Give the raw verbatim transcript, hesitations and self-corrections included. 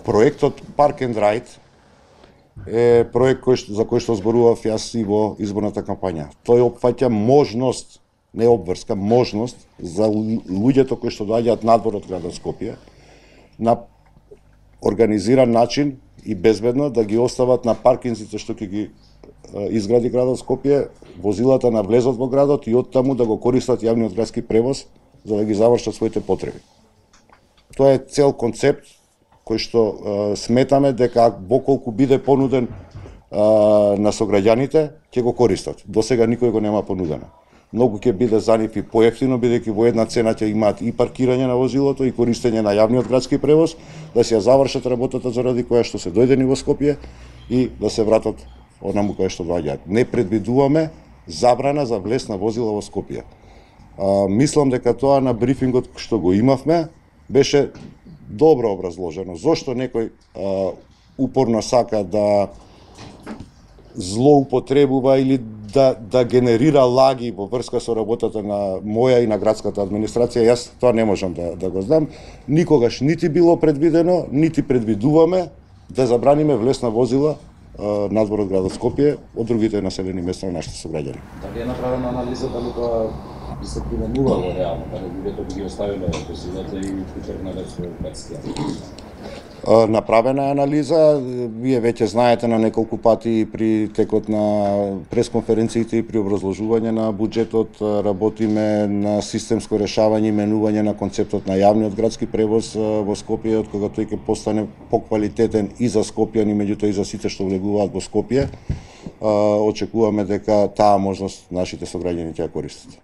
Проектот Park and Ride е проект кој што, за кој што зборував јас и во изборната кампања. Тој опфаќа можност, не обврска, можност за луѓето кои што доаѓаат надвор од градот Скопје на организиран начин и безбедно да ги остават на паркинзите што ќе ги изгради градот Скопје, возилата на влезот во градот и оттаму да го користат јавниот градски превоз за да ги завршат своите потреби. Тоа е цел концепт кој што е, сметаме дека во колку биде понуден е, на сограѓаните, ќе го користат. До сега никој го нема понудено. Многу ќе биде за нив и поевтино, бидејќи во една цена ќе имаат и паркирање на возилото и користење на јавниот градски превоз, да се ја завршат работата заради која што се дојдени во Скопје и да се вратат онаму која што доаѓаат. Не предвидуваме забрана за влез на возила во Скопје. А, мислам дека тоа на брифингот што го имавме беше добро образложено. Зошто некој а, упорно сака да злоупотребува или да, да генерира лаги во врска со работата на моја и на градската администрација, јас тоа не можам да, да го знам. Никогаш нити било предвидено, нити предвидуваме да забраниме влез на возила а, надвор од градот Скопје од другите населени места на нашите сограѓани. Дали е направена анализа дали тоа би се применувало реално, дали луѓето би ги оставиле возилата и потргнале со градскија? Направена е анализа, вие веќе знаете на неколку пати при текот на пресконференциите и при образложување на буџетот работиме на системско решавање и менување на концептот на јавниот градски превоз во Скопје, од кога тој ќе постане поквалитетен и за скопјани, меѓутоа и за сите што влегуваат во Скопје. Очекуваме дека таа можност нашите сограѓани ќе ја користат.